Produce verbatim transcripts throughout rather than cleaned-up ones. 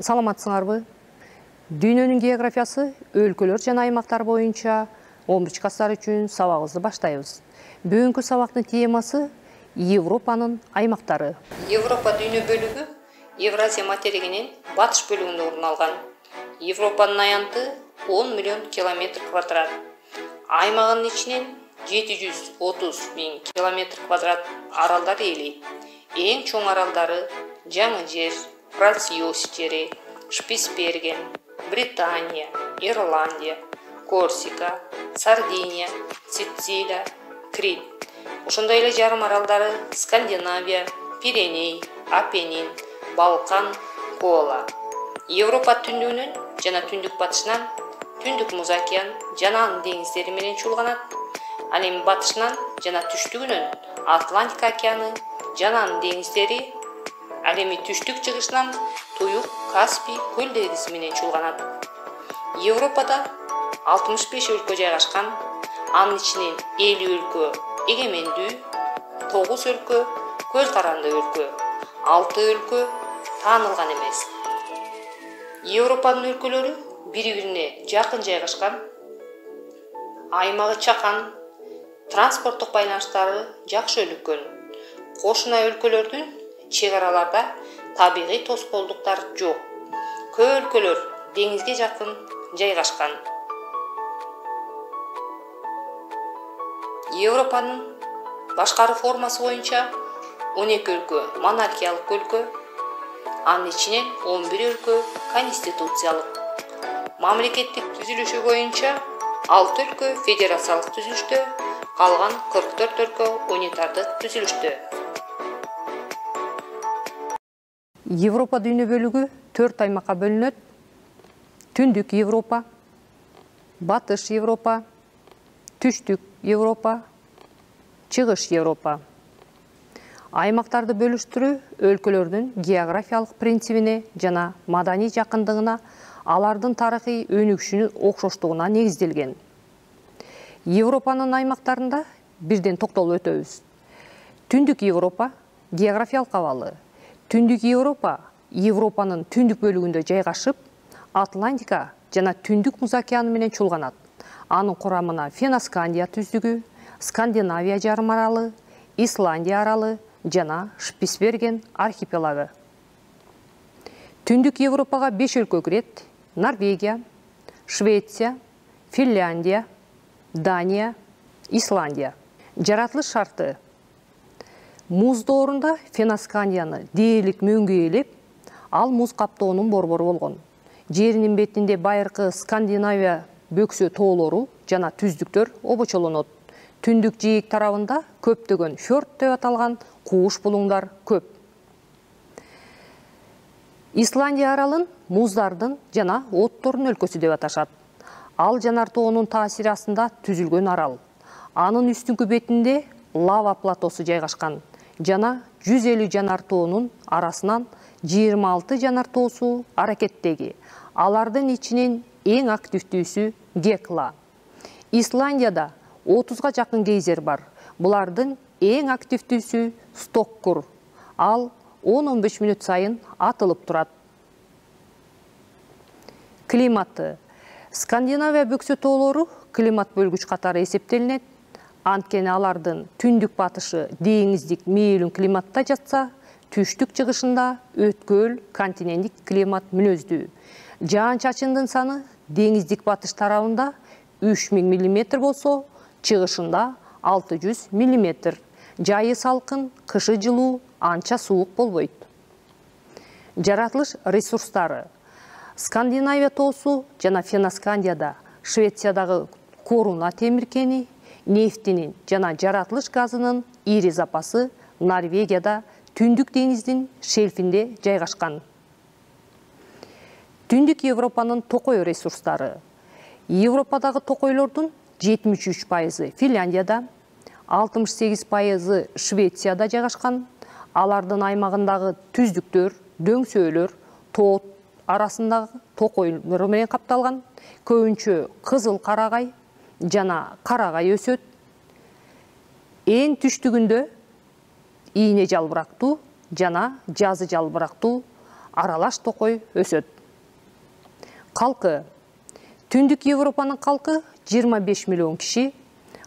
Саламатсыңарбы? Дүйнөнүн географиясы өлкөлөр жана аймактар боюнча он биринчи класстар үчүн сабагыбызды баштайбыз. Бүгүнкү сабактын темасы Европанын аймактары. Европа дүйнө бөлүгү Евразия материгинин батыш бөлүгүндө орун алган. Европанын аянты он миллион километр квадрат. Аймагынын ичинен жети жүз отуз миң километр квадрат аралдар ээлейт. Эң чоң аралдары Жаңы жер, Франциос жери, Шпицберген, Британия, Ирландия, Корсика, Сардиния, Сицилия, Крит. Ошондой эле жарым аралдары Скандинавия, Пиреней, Апеннин, Балкан, Кола. Европа түндүгүнөн жана түндүк батышынан Түндүк Муз океан жана анын деңиздери менен чуулганат. Ал эми батышынан жана түштүгүнөн Атлантика океаны жана анын деңиздери, ал эми түштүк чыгышынан Туюк, Каспий көл деңизи менен чуулганат. Европада алтымыш беш өлкө жайгашкан. Анын ичинен элүү өлкө эгемендүү, тогуз өлкө көз каранды өлкө, алты өлкө таанылган эмес. Европанын өлкөлөрү бири-бирине жакын жайгашкан. Аймагы чакан, транспорттук байланыштары жакшы өнүккөн. Кошуна өлкөлөрдүн чек араларда табигый тоскоолдуктар жок. Көп өлкөлөр деңизге жакын жайгашкан. Европанын башкаруу формасы боюнча он эки өлкө монархиялык өлкө, анын ичинен он бир өлкө конституциялык. Мамлекеттик түзүлүшү боюнча алты өлкө федерациялык түзүлүштө, калган кырк төрт өлкө унитардык түзүлүштө. Европа дүйнө бөлүгү төрт аймакка бөлүнөт. Түндүк Европа, Батыш Европа, Түштүк Европа, Чыгыш Европа. Аймактарды бөлүштүрүү өлкөлөрдүн географиялык принцибине жана маданий жакындыгына, алардын тарыхый өнүгүшүнүн окшоштугуна негизделген. Европанын аймактарында бирден токтолуп өтөбүз. Түндүк Европа географиялык абалы. Түндүк Европа Европанын түндүк бөлүгүндө жайгашып, Атлантика жана Түндүк Муз океаны менен чуулганат. Анын курамына Феноскандия түздүгү, Скандинавия жарым аралы, Исландия аралы жана Шпицберген архипелагы. Түндүк Европага беш өлкө кирет: Норвегия, Швеция, Финляндия, Дания, Исландия. Жаратылыш шарты: муз доорунда Феноскандияны дээрлик мөңгү ээлеп, ал муз каптоонун борбору болгон. Жеринин бетинде байыркы Скандинавия бөксө тоолору жана түздүктөр обочолонот. Түндүк жээк тарабында көптөгөн фьорд деп аталган кууш булуңдар көп. Исландия аралын муздардын жана оттордун өлкөсү деп аташат. Ал жанар тоонун таасири астында түзүлгөн арал. Анын үстүңкү бетинде лава платосу жайгашкан жана жүз элүү жанар тоонун арасынан жыйырма алты жанар тоосу аракеттеги. Алардын ичинен эң активдүүсү Гекла. Исландияда отузга жакын гейзер бар. Булардын эң активдүүсү Стоккур. Ал он он беш мүнөт сайын атылып турат. Климаты: Скандинавия бөксө тоолору климат бөлгүч катары эсептелинет. Анткени алардын түндүк батышы деңиздик мээлүүн климатта жатса, түштүк чыгышында өткөл континенттик климат мүнөздүү. Жаан-чачындын саны деңиздик батыш тарабында үч миң миллиметр болсо, чыгышында алты жүз миллиметр. Жайы салкын, кышы жылуу, анча суук болбойт. Жаратылыш ресурстары: Скандинавия тоосу жана Феноскандияда, Швециядагы коруна темиркени, нефтинин жана жаратылыш газынын ири запасы Норвегияда Түндүк деңиздин шельфинде жайгашкан. Түндүк Европанын токой ресурстары: Европадагы токойлордун жетимиш үч пайызы Финляндияда, алтымыш сегиз пайызы Швецияда жайгашкан. Алардын аймагындагы түздүктөр, дөңсөөлөр тоо арасындагы токойлор менен капталган. Көбүнчө кызыл карагай жана карагай өсөт. Эң түштүгүндө ийне жалбырактуу жана жазы жалбырактуу, аралаш токой өсөт. Калкы. Түндүк Европанын калкы жыйырма беш миллион киши.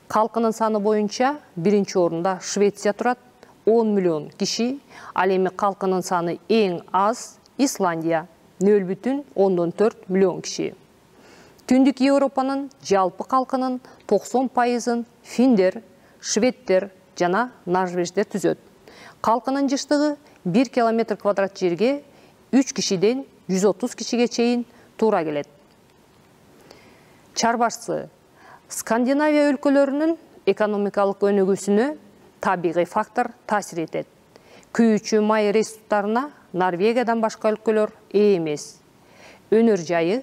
Калкынын саны боюнча биринчи орунда Швеция турат, он миллион киши. Ал эми калкынын саны эң аз Исландия, нөл бүтүн ондон төрт миллион киши. Түндүк Европанын жалпы калкынын токсон пайызын финдер, шведтер жана норвеждер түзөт. Калкынын жыштыгы бир километр квадрат жерге үч кишиден жүз отуз кишиге чейин туура келет. Чарбашсы. Скандинавия өлкөлөрүнүн экономикалык өнүгүүсүнө табигый фактор таасир этет. Күйүүчү май ресурстарына Норвегиядан башка өлкөлөр ээ эмес. Өнөр жайы.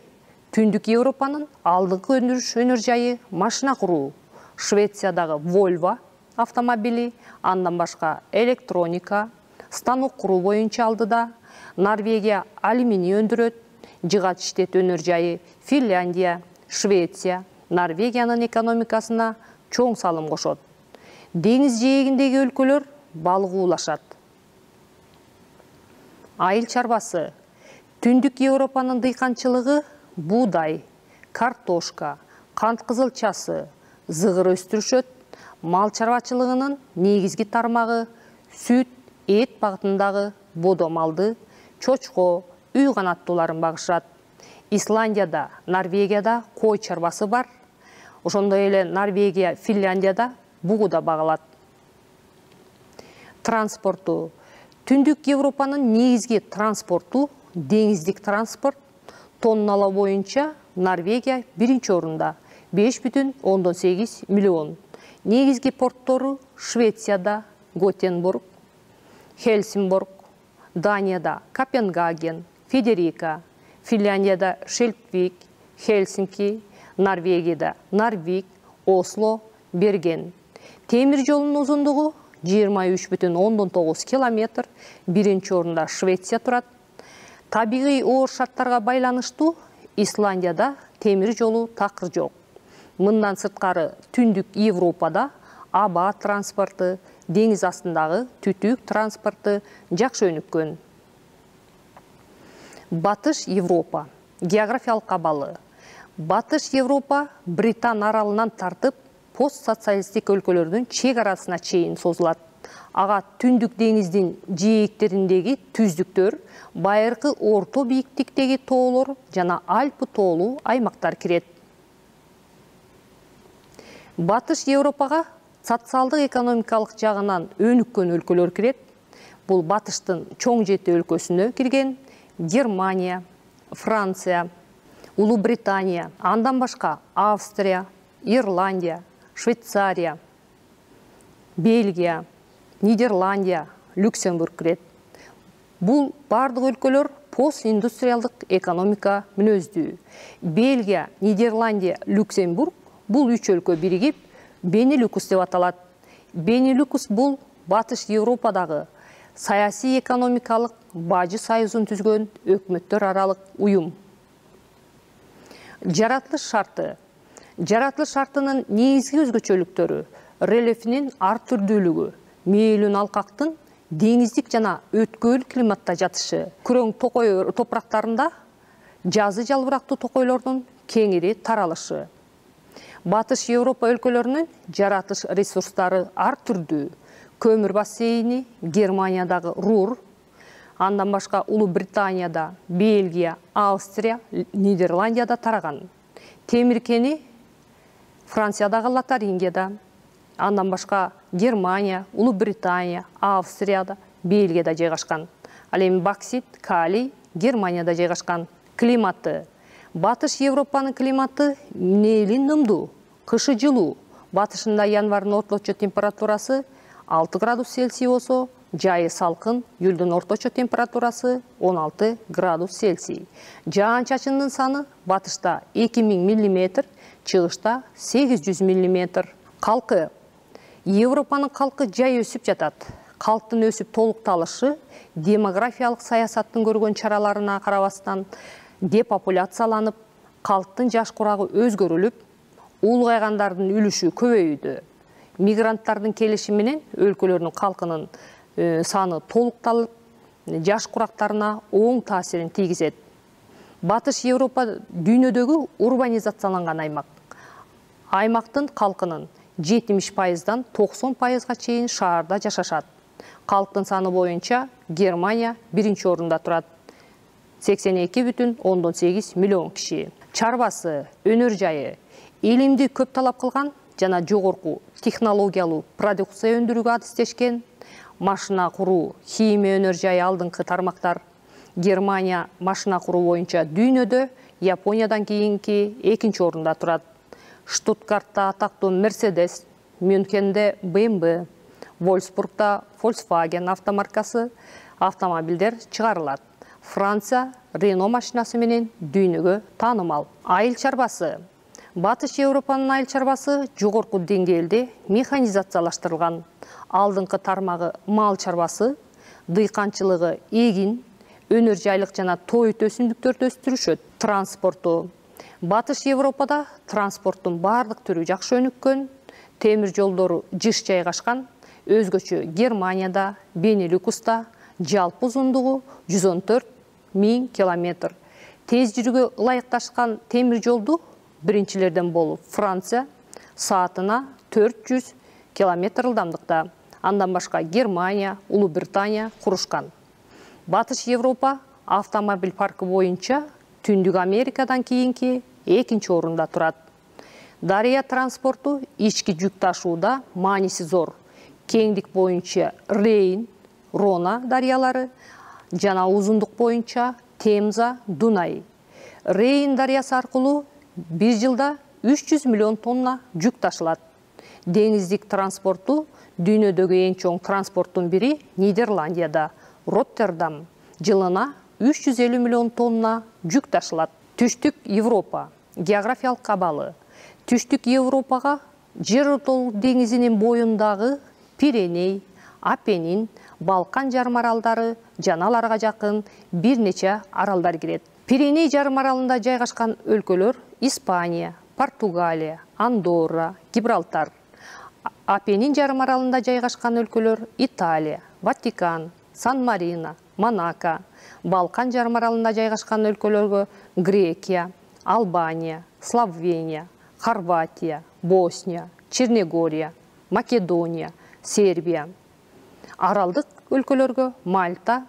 Түндүк Европанын алдыңкы өндүрүш өнөр жайы машина куруу. Швециядагы Volvo автомобили, андан башка электроника, станок куруу боюнча алдыда. Норвегия алюминий өндүрөт. Жыгач иштет өнөр жайы Финляндия, Швеция, Норвегиянын экономикасына чоң салым кошот. Деңиз жээгиндеги өлкөлөр балык уулашат. Айыл чарбасы. Түндүк Европанын дыйканчылыгы буудай, картошка, кант кызылчасы, зыгыр өстүрүшөт. Мал чарбачылыгынын негизги тармагы сүт, эт багытындагы бодо малды, чочко, үй канаттууларын багышат. Исландияда, Норвегияда кой чарбасы бар. Ошондой эле Норвегия, Финляндияда бугу да багылат. Транспорту. Түндүк Европанын негизги транспорту деңиздик транспорт. Тонналоо боюнча Норвегия биринчи орунда беш бүтүн ондон сегиз миллион. Негизги порттору Швецияда Готенбург, Хельсинборг, Данияда Копенгаген, Федерика, Финляндияда Шельпвик, Хельсинки, Норвегияда Нарвик, Осло, Берген. Темир жолунун узундугу жыйырма үч бүтүн ондон тогуз километр, биринчи орунда Швеция турат. Табигый оор шарттарга байланыштуу Исландияда темир жолу такыр жок. Мындан сырткары Түндүк Европада аба транспорту, деңиз астындагы түтүк транспорту жакшы өнүккөн. Батыш Европа. Географиялык абалы. Батыш Европа Британ аралынан тартып постсоциалисттик өлкөлөрдүн чек арасына чейин созулат. Ага Түндүк деңиздин жээктериндеги түздүктөр, байыркы орто бийиктиктеги тоолор жана Альпы тоолуу аймактар кирет. Батыш Европага социалдык экономикалык жагынан өнүккөн өлкөлөр кирет. Бул батыштын чоң жети өлкөсүнө кирген Германия, Франция, Улуу Британия, андан башка Австрия, Ирландия, Швейцария, Бельгия, Нидерландия, Люксембург кирет. Бул бардык өлкөлөр постиндустриалдык экономика мүнөздүү. Бельгия, Нидерландия, Люксембург бул үч өлкө биригип Бенилюкс деп аталат. Бенилюкс бул Батыш Европадагы саясий экономикалык бажы союзун түзгөн өкмөттөр аралык уюм. Жаратылыш шарты. Жаратылыш шартынын негизги өзгөчөлүктөрү рельефинин ар түрдүүлүгү, мээлүүн алкактын деңиздик жана өткөл климатта жатышы, күрөң токой топурактарында жазы жалбырактуу токойлордун кеңири таралышы. Батыш Европа өлкөлөрүнүн жаратылыш ресурстары ар түрдүү. Көмүр бассейни Германиядагы Рур, андан башка Улуу Британияда, Бельгия, Австрия, Нидерландияда тараган. Темир кени Франциядагы Лотарингияда, андан башка Германия, Улуу Британия, Австрияда, Бельгияда жайгашкан. Ал эми боксит, калий Германияда жайгашкан. Климаты. Батыш Европанын климаты нээлүү нымдуу, кышы жылуу. Батышында январдын орточо температурасы алты градус Цельсий болсо, жайы салкын, июлдун орточо температурасы он алты градус Цельсий. Жаан-чачындын саны батышта эки миң миллиметр, чыгышта сегиз жүз миллиметр. Калкы. Европанын калкы жай өсүп жатат. Калктын өсүп толукталышы демографиялык саясаттын көргөн чараларына карабастан депопуляцияланып, калктын жаш курагы өзгөрүлүп, улгайгандардын үлүшү көбөйдү. Мигранттардын келиши менен өлкөлөрдүн калкынын саны толукталып, жаш курактарына оң таасирин тийгизет. Батыш Европа дүйнөдөгү урбанизацияланган аймак. Аймактын калкынын жетимиш пайыздан токсон пайызга чейин шаарда жашашат. Калктын саны боюнча Германия биринчи орунда турат. сексен эки бүтүн ондон сегиз миллион киши. Чарбасы, өнөр жайы, илимди көп талап кылган жана жогорку технологиялуу продукция өндүрүүгө адистешкен. Машина куруу, химия өнөр жайы алдыңкы тармактар. Германия машина куруу боюнча дүйнөдө Япониядан кийинки экинчи орунда турат. Штутгартта атактуу Mercedes, Мюнхенде бэ эм вэ, Вольсбургда Volkswagen автомаркасы автомобилдер чыгарылат. Франция Рено машинасы менен дүйнөгө таанымал. Айыл чарбасы. Батыш Европанын айыл чарбасы жогорку деңгээлде механизациялаштырылган. Алдыңкы тармагы мал чарбасы, дыйканчылыгы эгин, өнөр жайлык жана тоют өсүмдүктөрдү өстүрүшөт. Транспорту. Батыш Европада транспорттун бардык түрү жакшы өнүккөн, темир жолдору жыш жайгашкан, өзгөчө Германияда, Бенилюкста жалпы узундугу жүз он төрт миң километр. Тез жүрүүгө ылайыкташкан темир жолду биринчилерден болуп Франция саатына төрт жүз километр ылдамдыкта. Андан башка Германия, Улуу Британия курушкан. Батыш Европа автомобиль паркы боюнча Түндүк Америкадан кийинки экинчи орунда турат. Дарыя транспорту ички жүк ташууда мааниси зор. Кеңдик боюнча Рейн, Рона дарыялары жана узундук боюнча Темза, Дунай. Рейн дарыясы аркылуу бир жылда үч жүз миллион тонна жүк ташылат. Деңиздик транспорту дүйнөдөгү эң чоң транспорттун бири Нидерландияда, Роттердам. Жылына үч жүз элүү миллион тонна жүк ташылат. Түштүк Европа. Географиялык абалы. Түштүк Европага Жер ортолук деңизинин боюндагы Пиреней, Апеннин, Балкан жарым аралдары жана аларга жакын бир нече аралдар кирет. Пиреней жарым аралында жайгашкан өлкөлөр Испания, Португалия, Андорра, Гибралтар. Апеннин жарым аралында жайгашкан өлкөлөр Италия, Ватикан, Сан-Марино, Монако. Балкан жарым аралында жайгашкан өлкөлөргө Грекия, Албания, Словения, Хорватия, Босния, Черногория, Македония, Сербия. Аралдык өлкөлөргө Мальта,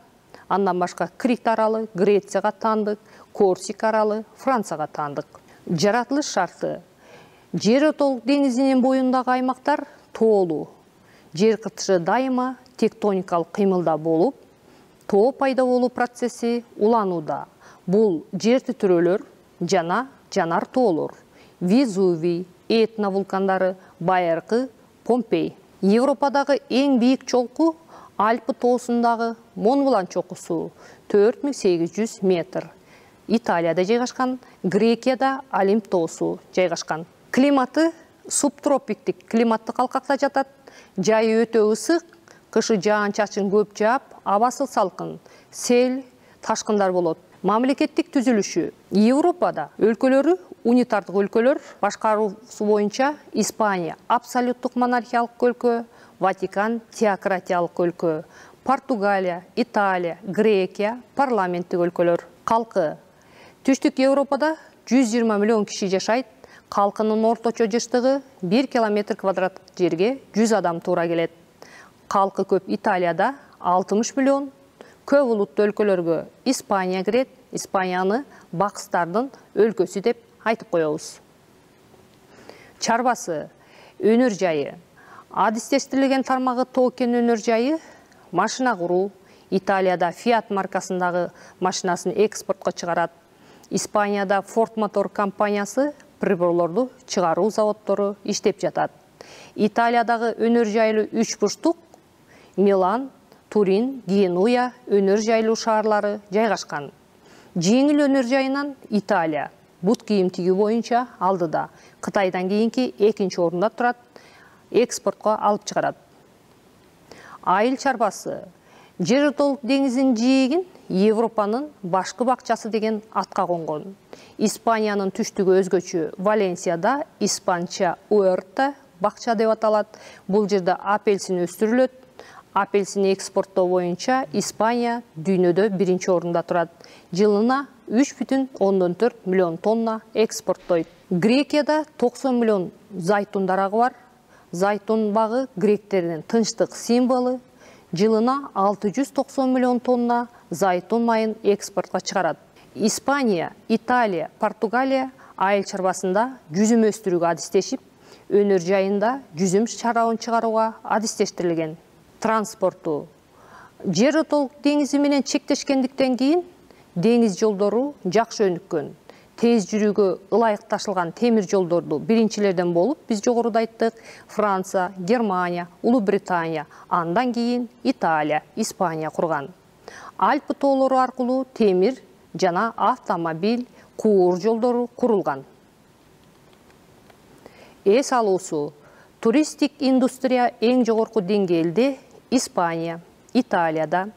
андан башка Крит аралы Грецияга таандык, Корсик аралы Францияга таандык. Жаратылыш шарты. Жер ортолук деңизинин боюндагы аймактар тоолуу. Жер кыртышы дайыма тектоникалык кыймылда болуп, тоо пайда болуу процесси уланууда. Бул жер титирөөлөр жана жанар тоолор. Везувий, Этна вулкандары, байыркы Помпей. Европадагы эң бийик чолку Альпы тоосундагы Монблан чокусу төрт миң сегиз жүз метр. Италияда жайгашкан, Грекияда Олимп тоосу жайгашкан. Климаты субтропиктик климаттык алкакта жатат. Жайы өтө ысык, кышы жаан-чачын көп жаап, абасы салкын, сел, ташкындар болот. Мамлекеттик түзүлүшү. Европада өлкөлөрү унитардык өлкөлөр, башкаруусу боюнча Испания абсолюттук монархиялык өлкө, Ватикан теократиялык өлкө, Португалия, Италия, Грекия парламенттик өлкөлөр. Калкы. Түштүк Европада жүз жыйырма миллион киши жашайт. Калкынын орточо жыштыгы бир километр квадраттык жерге жүз адам туура келет. Калкы көп Италияда алтымыш миллион. Көп улуттуу өлкөлөргө Испания кирет. Испанияны бакстардын өлкөсү деп айтып коебуз. Чарбасы. Өнөр жайы. Адистештирилген тармагы токен өнөр жайы. Машина куруу. Италияда Fiat маркасындагы машинасын экспортко чыгарат. Испанияда Ford Motor компаниясы приборлорду чыгаруу заводдору иштеп жатат. Италиядагы өнөр жайлуу үч бурчтук Милан, Турин, Генуя өнөр жайлуу шаарлары жайгашкан. Жеңил өнөр жайынан Италия бут кийим тигүү боюнча алдыда. Кытайдан кийинки экинчи орунда турат, экспортко алып чыгарат. Айыл чарбасы. Жер ортолук деңизинин жээгин Европанын башкы бакчасы деген атка конгон. Испаниянын түштүгү өзгөчө Валенсияда испанча Уэрта бакча деп аталат. Бул жерде апельсин өстүрүлөт. апельсин экспорттоо боюнча Испания дүйнөдө биринчи орунда турат. Жылына үч бүтүн ондон төрт миллион тонна экспорттойт. Грекияда токсон миллион зайтун дарагы бар. Зайтун багы гректердин тынчтык символу. Жылына алты жүз токсон миллион тонна зайтун майын экспортко чыгарат. Испания, Италия, Португалия айыл чарбасында жүзүм өстүрүүгө адистешип, өнөр жайында жүзүм чарабын чыгарууга адистештирилген. Транспорту жер отолук деңизи менен чектешкендиктен кийин деңиз жолдору жакшы өнүккөн. Тез жүрүүгө ылайык ташылган темир жолдорду биринчилерден болуп биз жогоруда айттык. Франция, Германия, Улуу Британия, андан кийин Италия, Испания курган. Альпы тоолору аркылуу темир жана автомобиль, куур жолдору курулган. Эс алуусу туристтик индустрия эң жогорку деңгээлде Испания, Италияда,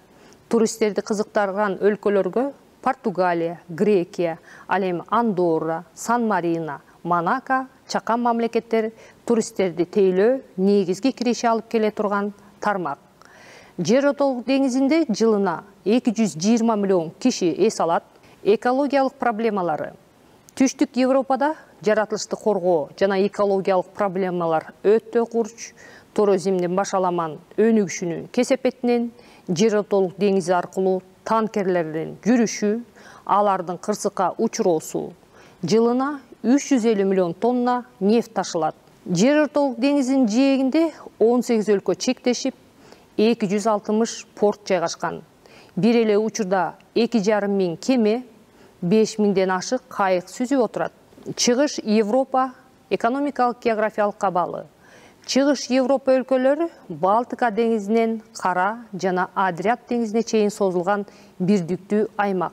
туристтерди кызыктырган өлкөлөргө Португалия, Грекия, ал эми Андорра, Сан-Марино, Монако, чакан мамлекеттер туристтерди тейлөө негизги киреше алып келе турган тармак. Жер отолук деңизинде жылына эки жүз жыйырма миллион киши эс алат. Экологиялык проблемалары. Түштүк Европада жаратылышты коргоо жана экологиялык проблемалар өтө курч. Туризмдин башаламан өнүгүшүнүн кесепетинен жер отолук деңизи аркылуу танкерлердин жүрүшү, алардын кырсыкка учуроосу. Жылына үч жүз элүү миллион тонна нефть ташылат. Жер отолук деңизинин жээгинде он сегиз өлкө чектешип, эки жүз алтымыш порт жайгашкан. Бир эле учурда эки жарым миң кеме, беш миңден ашык кайык сүзүп отурат. Чыгыш Европа экономикалык географиялык абалы. Чыгыш Европа өлкөлөрү Балтика деңизинен Кара жана Адриат деңизине чейин созулган бирдиктүү аймак.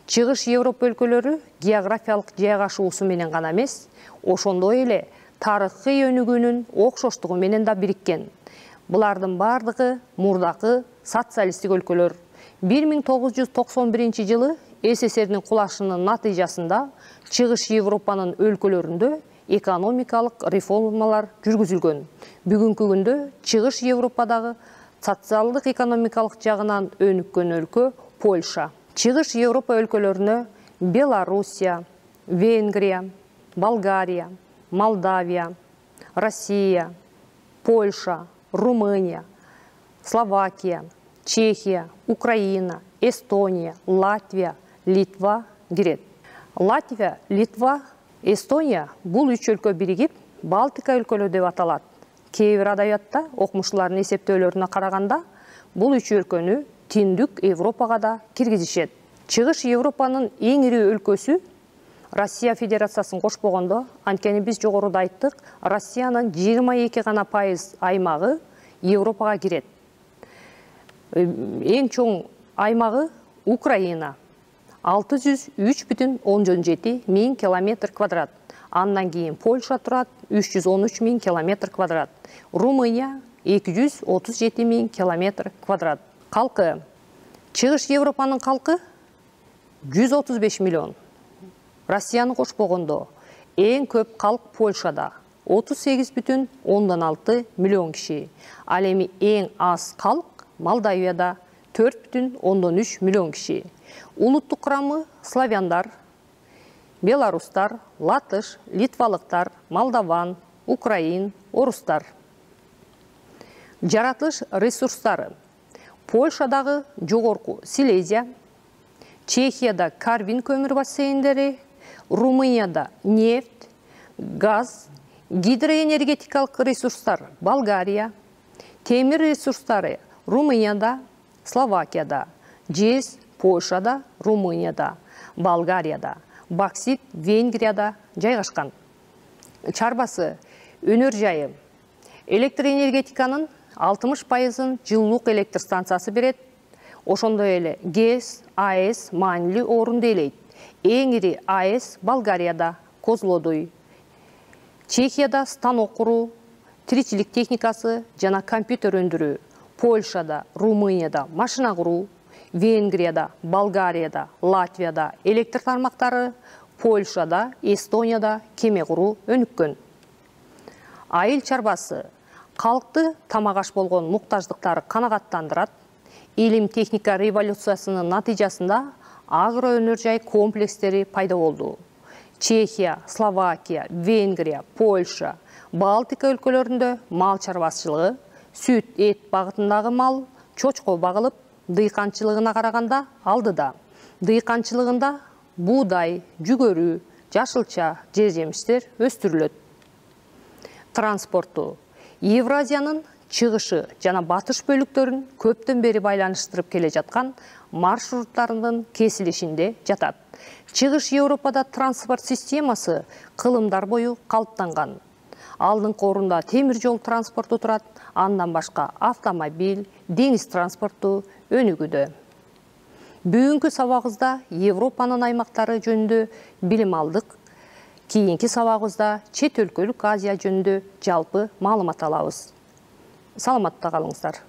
Чыгыш Европа өлкөлөрү географиялык жайгашуусу менен гана эмес, ошондой эле тарыхый өнүгүүнүн окшоштугу менен да бириккен. Булардын бардыгы мурдакы социалисттик өлкөлөр. бир миң тогуз жүз токсон биринчи жылы СССРдин кулашынын натыйжасында Чыгыш Европанын өлкөлөрүндө экономикалык реформалар жүргүзүлгөн. Бүгүнкү күндө Чыгыш Европадагы социалдык экономикалык жагынан өнүккөн өлкө Польша. Чыгыш Европа өлкөлөрүнө Белоруссия, Венгрия, Болгария, Молдавия, Россия, Польша, Румыния, Словакия, Чехия, Украина, Эстония, Латвия, Литва кирет. Латвия, Литва, Эстония бул үч өлкө биригип Балтика өлкөлөрү деп аталат. Кээ бир адабиятта окумуштуулардын эсептөөлөрүнө караганда бул үч өлкөнү Түндүк Европага да киргизишет. Чыгыш Европанын эң ири өлкөсү Россия Федерациясын кошпогондо, анткени биз жогоруда айттык, Россиянын жыйырма эки гана пайыз аймагы Европага кирет. Эң чоң аймагы Украина. алты жүз үч бүтүн ондон жети миң километр квадрат. Андан кийин Польша турат үч жүз он үч миң километр квадрат. Румыния эки жүз отуз жети миң километр квадрат. Калкы. Чыгыш Европанын калкы жүз отуз беш миллион. Россияны кошпогондо эң көп калк Польшада отуз сегиз бүтүн ондон алты миллион киши. Ал эми эң аз калк Молдавияда төрт бүтүн ондон үч миллион киши. Улуттук курамы славяндар, белорустар, латыш, литвалыктар, молдаван, украин, орустар. Жаратылыш ресурстары. Польшадагы жогорку Силезия, Чехияда Карвин көмүр бассейндери, Румынияда нефть, газ, гидроэнергетикалык ресурстар Болгария, темир ресурстары Румынияда, Словакияда, жез Польшада, Румынияда, Болгарияда, боксит Венгрияда жайгашкан. Чарбасы өнөр жайы. Электроэнергетиканын алтымыш пайызын жылуулук электр станциясы берет. Ошондой эле ГЭС, АЭС маанилүү орунду ээлейт. Эң ири АЭС Болгарияда, Козлодуй. Чехияда станок куруу, тиричилик техникасы жана компьютер өндүрүү. Польшада, Румынияда машина куруу, Венгрияда, Болгарияда, Латвияда электр тармактары, Польшада, Эстонияда кеме куруу өнүккөн. Айыл чарбасы. Калкты тамак аш болгон муктаждыктары канагаттандырат. Илим техника революциясынын натыйжасында агро өнөр жай комплекстери пайда болду. Чехия, Словакия, Венгрия, Польша, Балтика өлкөлөрүндө мал чарбачылыгы, сүт, эт багытындагы мал чочко багылып, дыйканчылыгына караганда алдыда. Дыйканчылыгында буудай, жүгөрү, жашылча, жер жемиштер өстүрүлөт. Транспорту. Евразиянын чыгышы жана батыш бөлүктөрүн көптөн бери байланыштырып келе жаткан маршруттарынын кесилишинде жатат. Чыгыш Европада транспорт системасы кылымдар бою калыптанган. Алдыңкы орунда темир жол транспорту турат, андан башка автомобиль, деңиз транспорту өнүгүүдө. Бүгүнкү сабагыбызда Европанын аймактары жөнүндө билим алдык. Кийинки сабагыбызда чет өлкөлүк Азия жөнүндө жалпы маалымат алабыз. Саламатта калыңыздар.